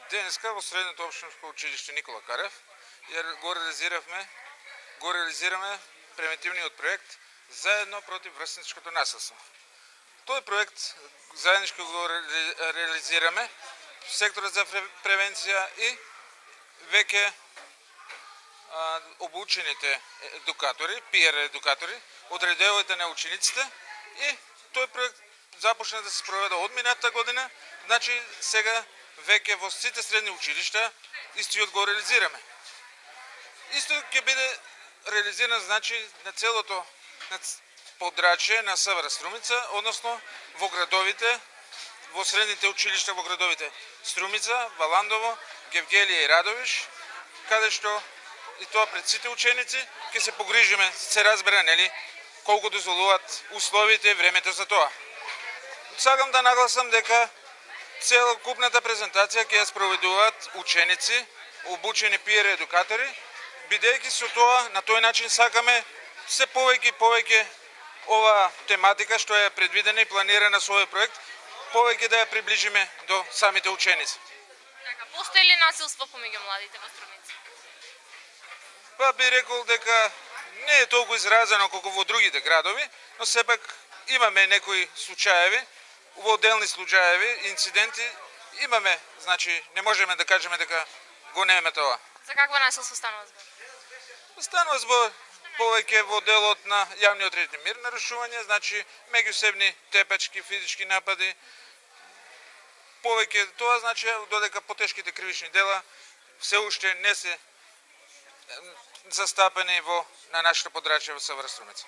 Денеска во Средното општинско училиште Никола Карев го реализираме превентивниот проект заедно против врсничкото насилство. Тој проект заеднички го реализираме секторот за превенција и веќе обучените едукатори, PR едукатори, од редовите на учениците и тој проект започна да се спроведа од минатата година, значи сега веќе во сите средни училишта истиот го реализираме. Исто ќе биде реализиран значи на целото подрачје на СВР Струмица, односно во градовите, во средните училишта во градовите Струмица, Валандово, Гевгелија и Радовиш, каде што и тоа пред сите ученици ќе се погрижиме, се разбера, нели, колку дозволуваат условите и времето за тоа. Сакам да нагласам дека целокупната презентација ќе ја спроведуваат ученици, обучени PR едукатори, бидејќи со тоа на тој начин сакаме се повеќе и повеќе ова тематика што е предвидена и планирана со овој проект, повеќе да ја приближиме до самите ученици. Така, постои ли насилство помеѓу младите во Струмица? Па би рекол дека не е толку изразено колку во другите градови, но сепак имаме некои случаеви, во отделни случаеви, инциденти имаме, значи не можеме да кажеме дека го немаме тоа. За какво насилство станува збор? Станува збор повеќе во делот на јавниот ред и мир нарушување, значи меѓусебни тепачки, физички напади. Повеќе тоа значи додека потешките кривични дела се уште не се застапени на нашето подрачје во СВР Струмица.